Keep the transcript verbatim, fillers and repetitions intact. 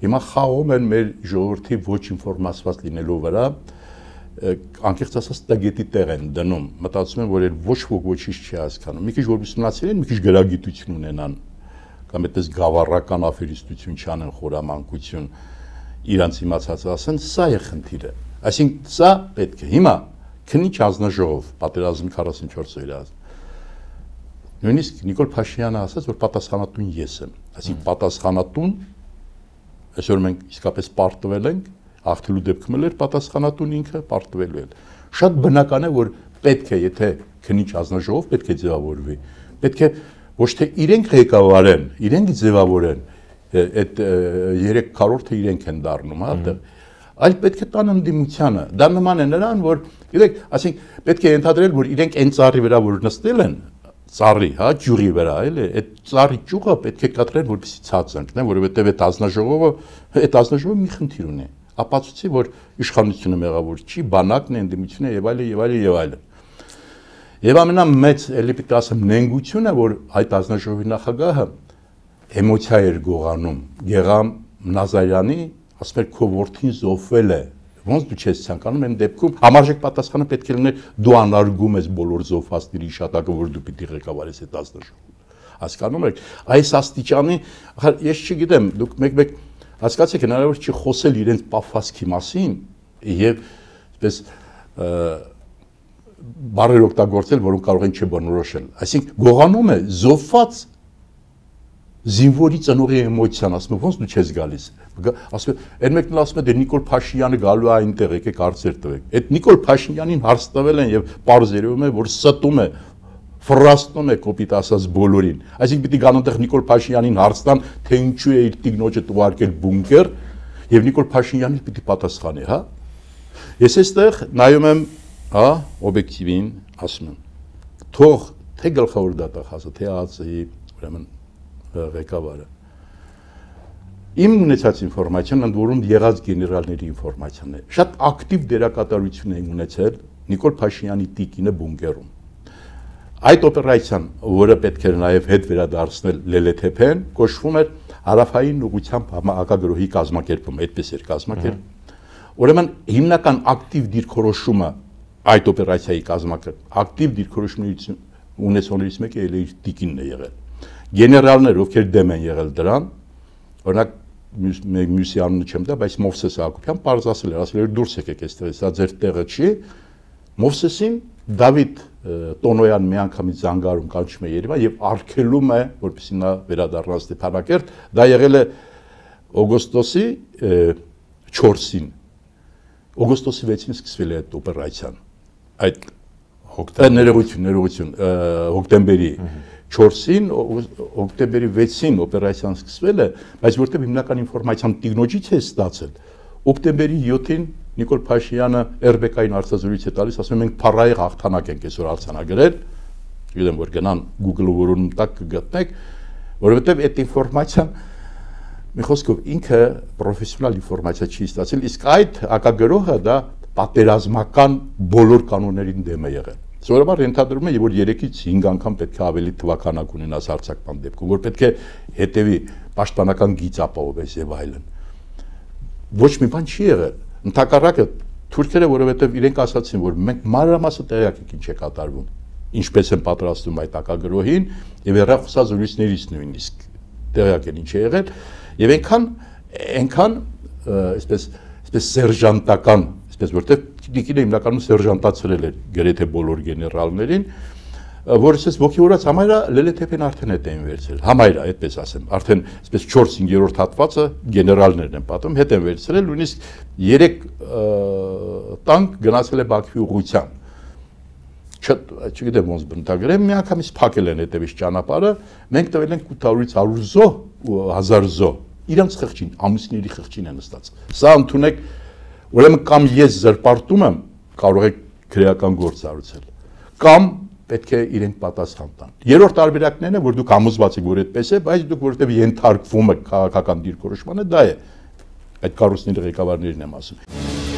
Հիմա խաղում են մեր ժողովրդի ոչ ինֆորմացված լինելու վրա, անկեղծ ասած տագետի տեղ են դնում, մտածում են, որ ոչ ոք ոչինչ չի հասկանում։ Մի քիչ որ ուսումնասիրեն, մի քիչ գրագիտություն ունենան, կամ այդպես գավառական աֆերիստություն չանեն, խորամանկություն, իրանց իմացած ասեն, սա է խնդիրը։ Այսինքն սա պետք է։ Հիմա քննիչ հանձնաժողով, պատերազմի քառասունչորս օրը նույնիսկ Նիկոլ Փաշինյանը ասաց, որ պատասխանատուն ես եմ։ Այսինքն պատասխանատուն, այսօր մենք իսկապես պարտվել ենք, աղթելու դեպքում էլ պատասխանատուն ինքը պարտվելու է։ Շատ բնական է, որ պետք է, եթե քննիչ հանձնաժողով պետք է ձևավորվի, պետք է ոչ թե իրենք ղեկավարեն, իրենք ձևավորեն, այդ երեք քառորդը իրենք են դառնում, հա, այլ պետք է տան ընդդիմությանը։ Դա նման է նրան, որ գիտեք, ասենք պետք է ենթադրել, որ իրենք այն ծառի վրա որ նստել են, ծառի, հա, ջուրի վրա, էլի, այդ ծառի ճյուղը պետք է կտրեն, որպեսզի ցած ընկնեն, որովհետև այդ հանձնաժողովը, այդ հանձնաժողովը մի խնդիր ունի։ Ապացուցի, որ իշխանությունը մեղավոր չի, բանակն է, ընդդիմությունը եւ այլն եւ այլն եւ այլն։ Եվ ամենամեծ էլի պիտի ասեմ նենգությունը, որ այդ հանձնաժողովի նախագահը էմոցիա էր գողանում, Գեգամ Նազարյանի, ասում էր քո որդին զոհվել է։ Ոնց դու չես ցանկանում այն դեպքում համարժեք պատասխանը պետք է լիներ դու անարգում ես բոլոր զոհվածների իշտակը, որ դու պիտի ղեկավարես այդ հանձնաժողովը։ Հասկանում եք, այս աստիճանի, ես չգիտեմ, դուք մեկ-մեկ հասկացեք, հնարավոր չի խոսել իրենց պաֆասքի մասին եւ այսպես բառեր օգտագործել, որոնք կարող են չբնորոշել։ Այսինքն գողանում է զոհված զինվորի ծնողի էմոցիան, ասում է, ոնց դու չես գալիս։ Ասում է, այն մեկն էլ ասում է, դե Նիկոլ Փաշինյանը գալու է այնտեղ, եկեք հարցեր տվեք։ Այդ Նիկոլ Փաշինյանին հարց տվել են եւ պարզ երևում է, որ ստում է, ֆրաստում է կոպիտ ասած բոլորին։ Այսինքն պիտի գան այնտեղ Նիկոլ Փաշինյանին հարց տան, թե ինչու է իր տիկնոջը ուղարկել բունկեր, եւ Նիկոլ Փաշինյանին պիտի պատասխանի, հա։ Ես այստեղ նայում եմ, հա, օբյեկտիվին, ասում եմ, թող թե գլխավոր դատախազը, թե ԱԱԾ-ի, ուրեմն ղեկավարը իմ ունեցած ինֆորմացիան ընդ որում եղած գեներալների ինֆորմացիան է շատ ակտիվ դերակատարություն են ունեցել Նիկոլ Փաշինյանի տիկինը բունկերում այդ օպերացիան որը պետք էր նաև հետ վերադարձնել Լելեթեփեն կոչվում էր հարավային ուղղությամբ հակագրոհի կազմակերպում այդպես էր կազմակերպ ուրեմն հիմնական ակտիվ դիրքորոշումը այդ օպերացիայի կազմակերպ ակտիվ դիրքորոշումից ունեցողներից մեկը էլ իր տիկինն է եղել Գեներալներ, ովքեր դեմ են եղել դրան, օրինակ մյուսի անունը չեմ տա, բայց Մովսես Հակոբյան պարզ ասել էր, ասել էր դուրս եկեք այստեղից, սա ձեր տեղը չի։ Մովսեսին Դավիթ Տոնոյան միանգամից զանգարում կանչում է Երևան եւ արգելում է, որպեսզի նա վերադառնա Ստեփանակերտ, դա եղել է օգոստոսի չորսին։ Օգոստոսի վեցին սկսվել է այդ օպերացիան։ Այդ հոկտեմբերի ներողություն, ներողություն, հոկտեմբերի չորսին օկտեմբերի վեցին օպերացիան սկսվել է, բայց որտեղ հիմնական ինֆորմացիան տիկնոջից է ստացել, օկտեմբերի յոթին Նիկոլ Փաշինյանը Էր բի կային արձազրույց է տալիս, ասում ենք փառայի հաղթանակ ենք այսօր արձանագրել, գիտեմ որ գնան Google-ը որոնում տակ կգտնեք, որովհետև այդ ինֆորմացիան մի խոսքով ինքը պրոֆեսիոնալ ինֆորմացիա չի ստացել, իսկ այդ հակագրոհը դա պատերազմական բոլոր կանոններին դեմ է եղել։ Սովորաբար ենթադրում է, որ երեքից հինգ անգամ պետք է ավելի թվականակ ունենաս հարձակման դեպքում, որ պետք է հետևի պաշտպանական գիծ ապահովես եւ այլն։ Ոչ մի բան չի եղել։ Ընդհակառակը թուրքերը, որովհետեւ իրենք ասացին, որ մենք մանրամասը տեղյակ ենք ինչ է կատարվում, ինչպես են պատրաստում այդ հակագրոհին եւ հեռախոսազրույցներից նույնիսկ տեղյակ են ինչ է եղել եւ այնքան այնքան այսպես այսպես սերժանտական այսպես որտեղ Տիկինը հիմնականում սերժանտացրել էր գրեթե բոլոր գեներալներին, որը ասես ոգևորած համայրա Լելեթեփեն արդեն հետ էին վերցրել, համայրա, այդպես ասեմ, արդեն այսպես չորս-հինգերորդ հատվածը գեներալներն են պատում, հետ են վերցրել, նույնիսկ երեք տանկ գնացել է Բաքվի ուղղությամբ։ Չգիտեմ ոնց բնութագրեմ, միանգամից փակել են հետևից ճանապարհը, մենք տվել ենք ութ հարյուրից հարյուր զոհ ու հազար զոհ, իրանց խղճին, ամուսինների խղճին են նստած։ Սա ընդունեք Ուրեմն կամ ես զրպարտում եմ, կարող եք քրեական գործ արել, կամ պետք է իրենք պատասխան տան։ Երրորդ տարբերակներն է, որ դուք համոզված եք, որ այդպես է, բայց դուք որովհետև ենթարկվում եք քաղաքական դիրքորոշմանը, դա է։ Այդ կառույցների ղեկավարներին եմ ասում։